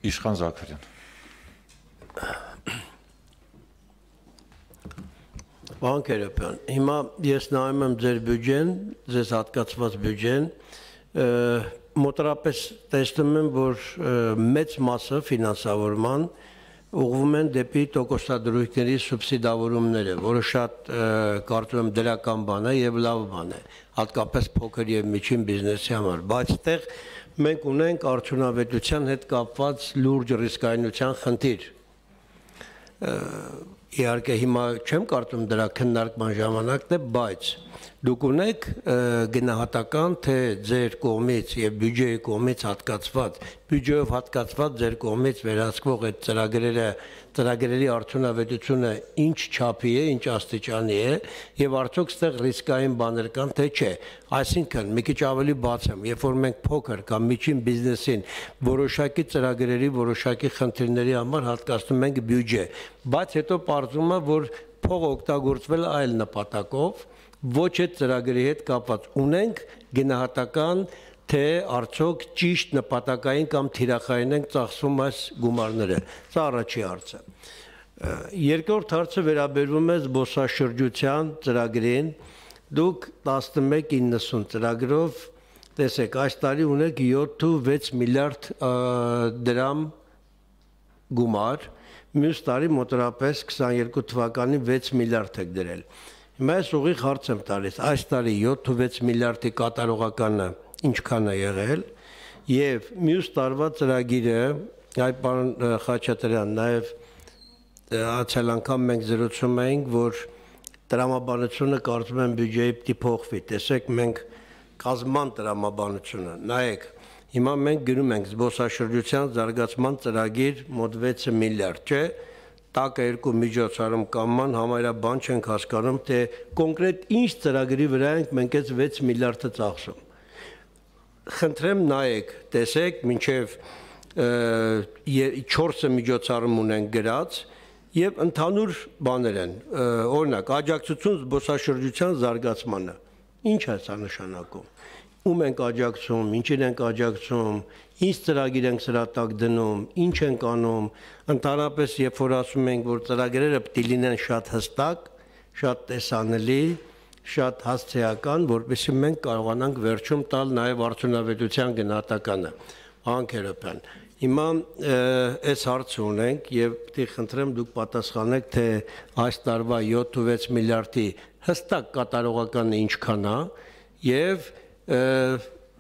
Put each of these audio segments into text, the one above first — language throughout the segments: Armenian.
Իշխան Զաքարյան։ Պարոն Քերոբյան, հիմա ես նայում եմ ձեր բյուջեն, ձեզ հատկացված բյուջեն, մոտավորապես տեսնում եմ, որ մեծ մասը ֆինանսավորման ուղղվում են դեպի տոկոսադրույքների սուբսիդավորումները, որը շատ կարծում եմ դրական բան է եւ լավ բան է, հատկապես փոքր եւ միջին բիզնեսի համար, բայց այդտեղ մենք ունենք արդյունավետության հետ կապված լուրջ ռիսկայնության խնդիր։ Իհարկե հիմա չեմ կարծում դրա քննարկման ժամանակն է, բայց դուք ունեք գնահատական, թե ձեր կողմից եւ բյուջեի կողմից հատկացված, բյուջեով հատկացված ձեր կողմից վերահսկվող այդ ծրագրերի արդյունավետությունը ինչ չափի է, ինչ աստիճանի է եւ արդյոք ստեղ ռիսկային բաներ կան, թե չէ։ Այսինքն, մի քիչ ավելի բացեմ, երբ որ մենք փոքր կամ միջին բիզնեսին որոշակի ծրագրերի, որոշակի խնդիրների համար հատկացնում ենք բյուջե, բայց հետո պարզվում է, որ փողը օգտագործվել է այլ նպատակով, ոչ այդ ծրագրի հետ կապված ունենք գնահատական, թե արդյոք ճիշտ նպատակային կամ թիրախային են ծախսում այս գումարները։ Սա առաջի հարցը։ Երկրորդ հարցը վերաբերում է զբոսաշրջության ծրագրին։ Դուք 1190 ծրագրով, տեսեք, այս տարի ունեք 7-6 միլիարդ դրամ գումար, մյուս տարի մոտավորապես 22 թվականին 6 միլիարդ եք դրել։ Հիմա ես ուղիղ հարց եմ տալիս, այս տարի 7-6 միլիարդի կատարողականը ինչքան է եղել եւ մյուս տարվա ծրագիրը, այ պարոն Խաչատրյան, նաեւ անցյալ անգամ մենք զրուցում էինք, որ տրամաբանությունը կարծում եմ բյուջեի պիտի փոխվի, տեսեք մենք կազման տրամաբանությունը, նայեք, հիմա մենք գրում ենք զբոսաշրջության զարգացման ծրագիր մոտ 6 միլիարդ, չէ, տակը երկու միջոցառում կամման համարյա բան չենք հասկանում, թե կոնկրետ ինչ ծրագրի վրա ենք մենք այս 6 միլիարդը ծախսում։ Խնդրեմ նայեք, տեսեք, մինչև 4 միջոցառում ունենք գրած եւ ընդհանուր բաներ են, օրինակ, աջակցություն զբոսաշրջության զարգացմանը։ Ինչ է սա նշանակում։ Ում ենք աջակցում, ինչին ենք աջակցում, ինչ ծրագիր ենք սրա տակ դնում, ինչ ենք անում, ընդհանրապես երբ որ ասում ենք, որ ծրագրերը պետք է լինեն շատ հստակ, շատ տեսանելի, շատ հասցեական, որպեսզի մենք կարողանանք վերջում տալ նաև արդյունավետության գնահատականը։ Պարոն Քերոբյան, հիմա այս հարցը ունենք եւ պետք է խնդրեմ դուք պատասխանեք, թե այս տարվա 7-6 միլիարդի հստակ կատարողականը ինչքան է եւ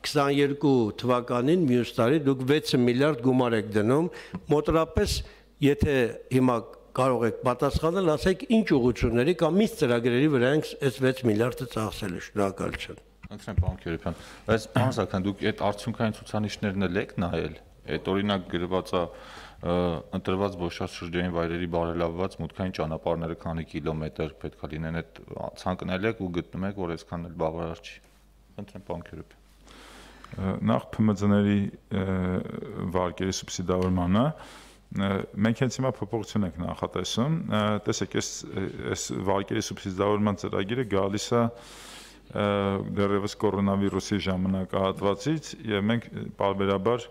22 թվականին մյուս տարի դուք 6 միլիարդ գումար եք դնում, մոտավորապես եթե հիմա կարող եք պատասխանել, ասեք ինչ ուղղությունների կամ ինչ ծրագրերի վրա ենք այս 6 միլիարդը ծախսել, շնորհակալություն։ Ընտրեմ պարոն Քերոբյան, բայց պարոն Զաքարյան, դուք այդ արդյունքային ցուցանիշներն էլ եք նայել, այդ օրինակ գրված է ընտրված զբոսաշրջային վայրերի բարելավված մուտքային ճանապարհները քանի կիլոմետր պետք է լինեն, այդ ցանկնել եք ու գտնում եք, որ այսքան էլ բավարար չի։ Ընտրեմ պարոն Քերոբյան։ Նախ ՓՄԶ-ների վարկերի սուբսիդավորմանը մենք հենց հիմա փոփոխություն ենք նախատեսում, տեսեք, այս վարկերի սուբսիդավորման ծրագիրը գալիս է դեռևս կորոնավիրուսի ժամանակահատվածից եւ մենք պարբերաբար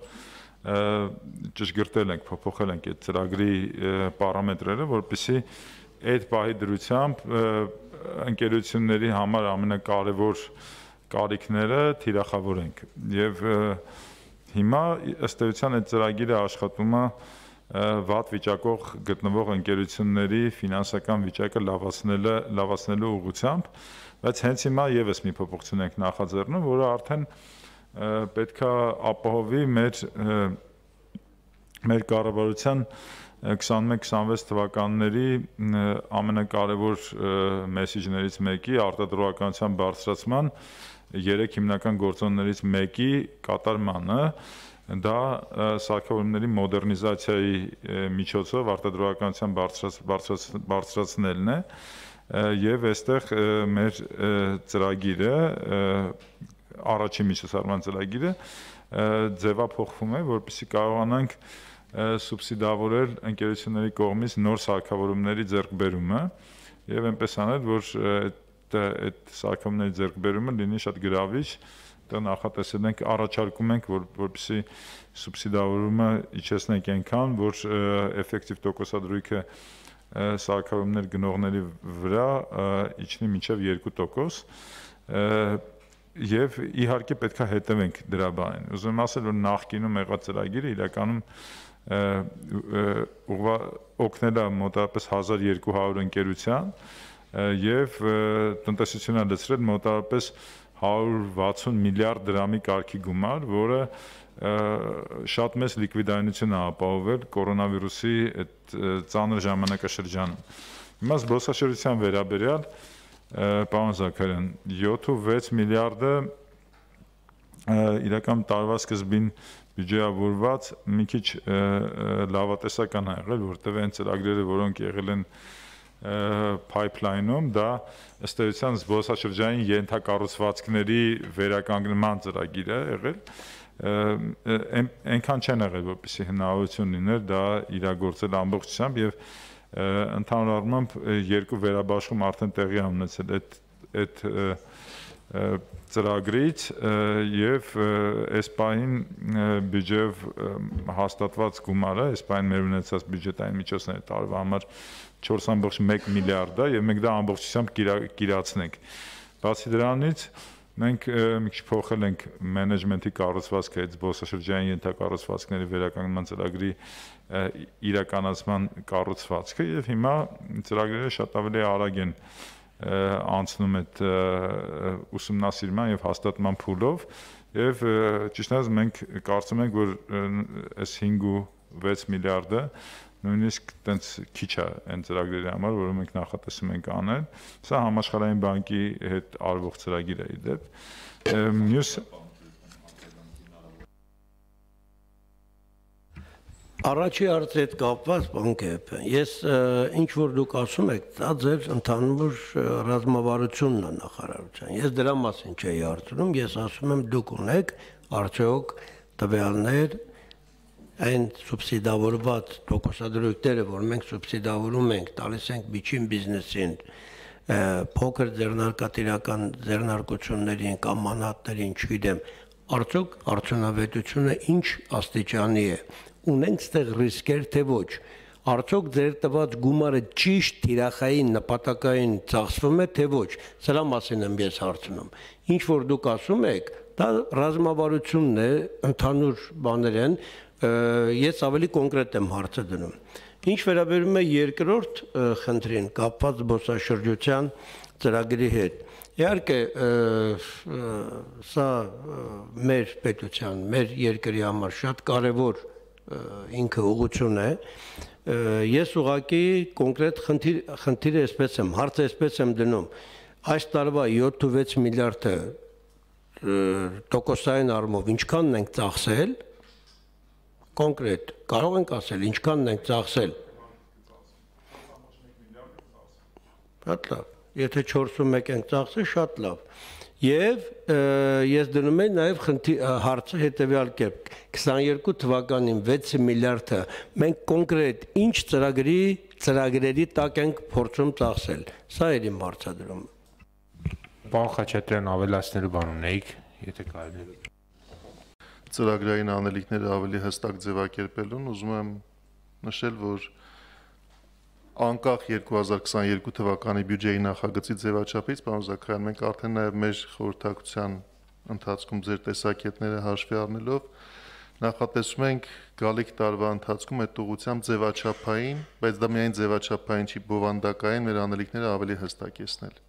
ճշգրտել ենք, փոփոխել ենք այդ ծրագրի պարամետրերը, որպեսզի այդ պահի դրությամբ ընկերությունների համար ամենակարևոր կարիքները թիրախավորենք եւ հիմա ըստ էության այդ ծրագիրը աշխատում է վատ վիճակող գտնվող ընկերությունների ֆինանսական վիճակը լավացնելու ուղղությամբ, բայց հենց հիմա եւս մի փոփոխություն ենք նախաձեռնում, որը արդեն պետք է ապահովի մեր կառավարության 21-26 թվականների ամենակարևոր մեսեջներից մեկի արտադրողականության բարձրացման 3 հիմնական գործոններից մեկի կատարմանը, դա սարքավորումների մոդեռնիզացիայի միջոցով արտադրողականության բարձրացնելն է եւ այստեղ մեր ծրագիրը առաջին միջոցառման ծրագիրը ձևափոխվում է, որպեսզի կարողանանք սուբսիդավորել ընկերությունների կողմից նոր սարքավորումների ձեռքբերումը եւ այնպես անել, որ այդ սարքավորումների ձեռքբերումը լինի շատ գրավիչ այդտեղ նախատեսել ենք, առաջարկում ենք, որպեսզի սուբսիդավորումը իջեցնենք այնքան, որ էֆեկտիվ տոկոսադրույքը սարքավորումներ գնողների վրա իջնի մինչև 2%, եւ իհարկե պետքա հետևենք դրա բանին։ Ուզում եմ ասել, որ նախկինում եղած ծրագիրը իրականում օգնել է մոտավորապես 1200 ընկերության եւ տնտեսությունը լցրել մոտավորապես 160 միլիարդ դրամի կարգի գումար, որը շատ մեծ լիկվիդայնություն է ապահովել կորոնավիրուսի այդ ծանր ժամանակաշրջանում։ Հիմա զբոսաշրջության վերաբերյալ պարոն Զաքարյան, 7-6 միլիարդը իրական տարվա սկզբին բյուջեավորված մի քիչ լավատեսական է եղել, որտեղ այն ծրագրերը, որոնք եղել են pipeline-ում, դա ըստ էության զբոսաշրջային ենթակառուցվածքների վերականգնման ծրագիր է եղել, այնքան չեն եղել, որպեսզի հնարավորություն լիներ դա իրագործել ամբողջությամբ եւ ընդհանուր առմամբ երկու վերաբաշխում արդեն տեղի է ունեցել այդ ծրագրից եւ այս պահին բյուջեով հաստատված գումարը, այս պահին մեր ունեցած բյուջետային միջոցները տարվա համար 4.1 միլիարդ է եւ մենք դա ամբողջությամբ կիրացնենք։ Բացի դրանից մենք մի քիչ փոխել ենք մենեջմենթի կառուցվածքը, այդ զբոսաշրջային ենթակառուցվածքների վերականգնման ծրագրի իրականացման կառուցվածքը եւ հիմա ծրագրերը շատ ավելի արագ են անցնում այդ ուսումնասիրման եւ հաստատման փուլով եւ ճիշտ ասած մենք կարծում ենք, որ այս 5-6 միլիարդը նույնիսկ տենց քիչ է այն ծրագրերի համար, որը մենք նախատեսում ենք անել։ Սա համաշխարհային բանկի հետ արվող ծրագիր է իդեպ։ Մյուս Առաջի հարցի հետ կապված բանկեփ։ Ես ինչ որ դուք ասում եք, դա ձեր ընդհանուր ռազմավարությունն է նախարարության։ Ես դրա մասին չէի հարցնում, ես ասում եմ դուք ունեք արդյոք տվյալներ այն սուբսիդավորված տոկոսադրույքները, որ մենք սուբսիդավորում ենք, տալիս ենք միջին բիզնեսին, փոքր ձեռնարկատիրական ձեռնարկություններին կամ մանատներին, չգիտեմ, արդյոք արդյունավետությունը ինչ աստիճանի է, ունենք ստեղ ռիսկեր, թե ոչ, արդյոք ձեր տված գումարը ճիշտ թիրախային նպատակային ծախսվում է, թե ոչ, սրա մասին եմ ես հարցնում։ Ինչ որ դուք ասում եք, դա ռազմավարությունն է, ընդհանուր բաներ են, ես ավելի կոնկրետ եմ հարցը դնում։ Ինչ վերաբերում է երկրորդ խնդրին կապված զբոսաշրջության ծրագրի հետ, իհարկե սա մեր պետության, մեր երկրի համար շատ կարևոր ինքը ուղղություն է, ես ուղղակի կոնկրետ խնդիրը այսպես եմ, հարցը այսպես եմ դնում, այս տարվա 7-6 միլիարդը տոկոսային առումով ինչքանն ենք ծախսել, կոնկրետ, կարող ենք ասել, ինչքանն ենք ծախսել։ Շատ լավ, եթե 4.1 ենք ծախսել, շատ լավ։ Եվ ես դնում եմ նաև հարցը հետևյալ կերպ, 22 թվականին 6 միլիարդը մենք կոնկրետ ինչ ծրագրերի տակ ենք փորձում ծախսել։ Սա էր իմ հարցադրումը։ Պարոն Խաչատրյան, ավելացնելու բան ունեիք, եթե կարելի է։ Ծրագրային անելիքները ավելի հստակ ձևակերպելուն ուզում եմ նշել, որ անկախ 2022 թվականի բյուջեի նախագծի ձևաչափից, պարոն Զաքարյան, մենք արդեն նաև մեր խորհրդակցության ընթացքում ձեր տեսակետները հաշվի առնելով նախատեսում ենք գալիք տարվա ընթացքում այդ ուղղությամբ ձևաչափային, բայց դա միայն ձևաչափային չի, բովանդակային մեր անելիքները ավելի հստակեցնել։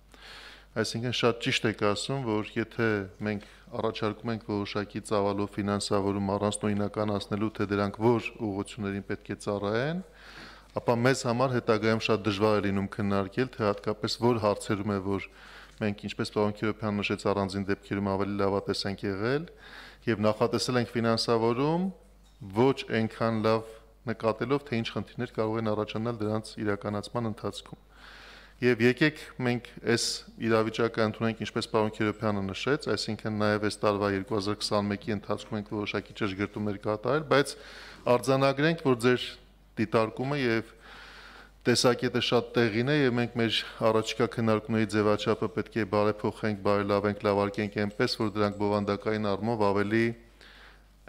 Այսինքն շատ ճիշտ եք ասում, որ եթե մենք առաջարկում ենք որոշակի ծավալով ֆինանսավորում առանց նույնականացնելու, թե դրանք որ ուղղություններին պետք է ծառայեն, ապա մեզ համար հետագայում շատ դժվար է լինում քննարկել, թե հատկապես որ հարցերում է, որ մենք ինչպես պարոն Քիրոփյանը նշեց առանձին դեպքերում ավելի լավատես ենք եղել եւ նախատեսել ենք ֆինանսավորում ոչ այնքան լավ նկատելով, թե ինչ խնդիրներ կարող են առաջանալ դրանց իրականացման ընթացքում։ Եվ եկեք մենք այս իրավիճակը ընդունենք, ինչպես պարոն Քիրոփյանը նշեց, այսինքն նաև այս տարվա 2021-ի ընթացքում ենք որոշակի ճշգրտումներ կատարել, բայց արձանագրենք, որ ձեր դիտարկումը եւ տեսակետը շատ տեղին է եւ մենք մեր առաջիկա քննարկումների ձևաչափը պետք է բարեփոխենք, բարելավենք, լավարկենք այնպես, որ դրանք բովանդակային առումով ավելի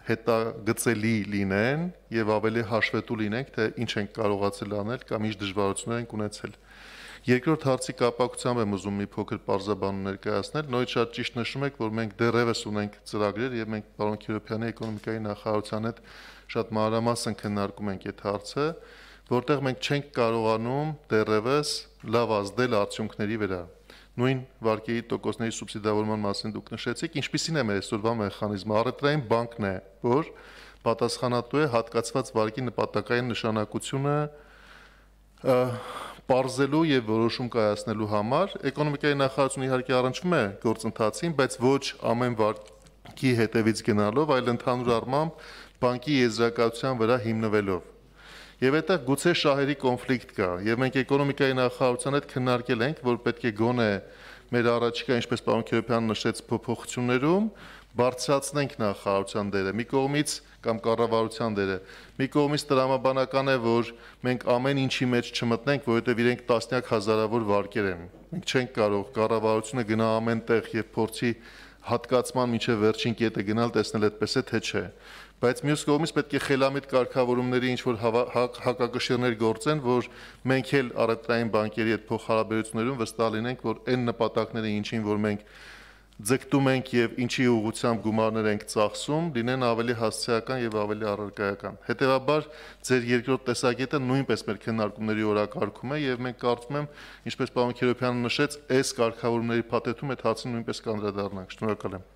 հետագծելի լինեն եւ ավելի հաշվետու լինենք, թե ինչ ենք կարողացել անել կամ ինչ դժվարություններ ենք ունեցել։ Երկրորդ հարցի կապակցությամբ եմ ուզում մի փոքր պարզաբանում ներկայացնել։ Նույն շատ ճիշտ նշում եք, որ մենք դեռևս ունենք ծրագրեր եւ մենք պարոն Քիրոփյանի էկոնոմիկայի նախարարության հետ շատ մանրամասն քննարկում ենք այդ հարցը, որտեղ մենք չենք կարողանում դեռևս լավ ազդել արդյունքների վրա։ Նույն վարկերի տոկոսների սուբսիդավորման մասին դուք նշեցիք, ինչպիսին է մեր այսօրվա մեխանիզմը։ Առևտրային բանկն է, որ պատասխանատու է հատկացված վարկի նպատակային նշանակությունը պարզելու եւ որոշում կայացնելու համար։ Էկոնոմիկայի նախարարությունը իհարկե առնչվում է գործընթացին, բայց ոչ ամեն վարկի հետևից գնալով, այլ ընդհանուր առմամբ բանկի եզրակացության վրա հիմնվելով։ Եվ այդտեղ գուցե շահերի կոնֆլիկտ կա, եւ մենք էկոնոմիկայի նախարարության հետ քննարկել ենք, որ պետք է գոնե մեր առաջիկա, ինչպես պարոն Քիրոփյանը նշեց, փոփոխություններում բարձրացնենք նախարարության դերը, մի կողմից կամ կառավարության դերը։ Մի կողմից տրամաբանական է, որ մենք ամեն ինչի մեջ չմտնենք, որովհետեւ իրենք տասնյակ հազարավոր վարկեր են։ Մենք չենք կարող կառավարությունը գնա ամեն տեղ եւ փորձի հատկացման միջև վերջին կետը գնալ, տեսնել այդպես է թե չէ։ Բայց մյուս կողմից պետք է խելամիտ կարգավորումների ինչ որ հակակշիռներ գործեն, որ մենք էլ առևտրային բանկերի հետ փոխհարաբերություններում վստահ լինենք, որ այն նպատակները, ինչին որ մենք ձգտում ենք եւ ինչի ուղղությամբ գումարներ ենք ծախսում, լինեն ավելի հասցեական եւ ավելի առարկայական։ Հետեւաբար ձեր երկրորդ տեսակետը նույնպես մեր քննարկումների օրակարգում է եւ մենք կարծում եմ, ինչպես պարոն Քիրոփյանը նշեց, այս կարգավորումների փաթեթում այդ հարցին նույնպես կանդրադառնանք։ Շնորհակալ եմ։